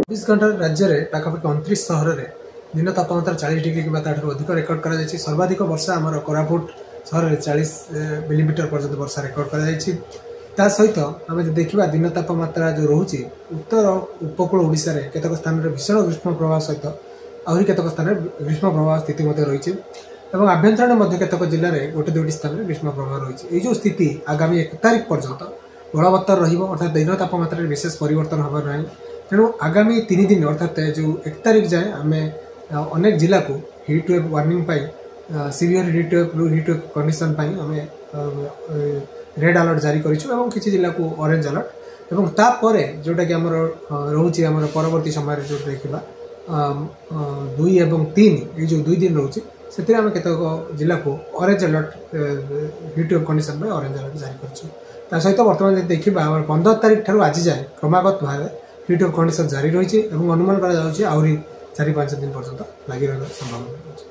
24 ଘଣ୍ଟାରେ ରାଜ୍ୟରେ ପାଖାପାଖି 29 ସହରରେ ଦିନ ତାପମାତ୍ରା 40 ଡିଗ୍ରୀ କିମ୍ବା ତାଠାରୁ ଅଧିକ ରେକର୍ଡ କରାଯାଇଛି। ସର୍ବାଧିକ ବର୍ଷା ଆମର କୋରାପୁଟ ସହରରେ 40 ମିଲିମିଟର ପର୍ଯ୍ୟନ୍ତ ବର୍ଷା ରେକର୍ଡ କରାଯାଇଛି। ତା ସହିତ ଆମେ ଯଦି ଦେଖିବା, ଦିନ ତାପମାତ୍ରା ଯେଉଁ ରହୁଛି, ଉତ୍ତର ଉପକୂଳ ଓଡ଼ିଶାରେ କେତେକ ସ୍ଥାନରେ ଭୀଷଣ ଗ୍ରୀଷ୍ମ ପ୍ରବାହ ସହିତ ଆହୁରି କେତେକ ସ୍ଥାନରେ ଗ୍ରୀଷ୍ମ ପ୍ରବାହ ସ୍ଥିତି ମଧ୍ୟ ରହିଛି ଏବଂ ଆଭ୍ୟନ୍ତରୀଣ ମଧ୍ୟ କେତେକ ଜିଲ୍ଲାରେ ଗୋଟେ ଦୁଇଟି ସ୍ଥାନରେ ଗ୍ରୀଷ୍ମ ପ୍ରବାହ ରହିଛି। ଏଇ ଯେଉଁ ସ୍ଥିତି ଆଗାମୀ 1 ତାରିଖ ପର୍ଯ୍ୟନ୍ତ ବଳବତ୍ତର ରହିବ, ଅର୍ଥାତ୍ ଦିନ ତାପମାତ୍ରାରେ ବିଶେଷ ପରିବର୍ତ୍ତନ ହେବ ନାହିଁ। ତେଣୁ ଆଗାମୀ 3 ଦିନ, ଅର୍ଥାତ୍ ଯେଉଁ 1 ତାରିଖ ଯାଏଁ ଆମେ ଅନେକ ଜିଲ୍ଲାକୁ ହିଟ୍ ୱେଭ୍ ୱାର୍ଣ୍ଣିଂ ପାଇଁ, ସିଭିୟର ହିଟ୍ ୱେଭ୍ରୁ ହିଟ୍ ୱେଭ୍ କଣ୍ଡିସନ୍ ପାଇଁ ଆମେ ରେଡ୍ ଆଲର୍ଟ ଜାରି କରିଛୁ ଏବଂ କିଛି ଜିଲ୍ଲାକୁ ଅରେଞ୍ଜ ଆଲର୍ଟ। ଏବଂ ତାପରେ ଯେଉଁଟାକି ଆମର ରହୁଛି, ଆମର ପରବର୍ତ୍ତୀ ସମୟରେ ଯେଉଁଟା ଦେଖିବା 2 ଏବଂ 3, ଏଇ ଯେଉଁ 2 ଦିନ ରହୁଛି, ସେଥିରେ ଆମେ କେତେକ ଜିଲ୍ଲାକୁ orange alert, heat wave condition ପାଇଁ ଅରେଞ୍ଜ ଆଲର୍ଟ ଜାରି କରିଛୁ। ତା ସହିତ ବର୍ତ୍ତମାନ ଯଦି ଦେଖିବା, ଆମର 15 ତାରିଖ ଠାରୁ ଆଜି ଯାଏଁ କ୍ରମାଗତ ଭାବେ ହିଟ୍ ୱେଭ୍ କଣ୍ଡିସନ୍ ଜାରି ରହିଛି ଏବଂ ଅନୁମାନ କରାଯାଉଛି ଆହୁରି 4-5 ଦିନ ପର୍ଯ୍ୟନ୍ତ ଲାଗି ରହିବାର ସମ୍ଭାବନା ରହିଛି।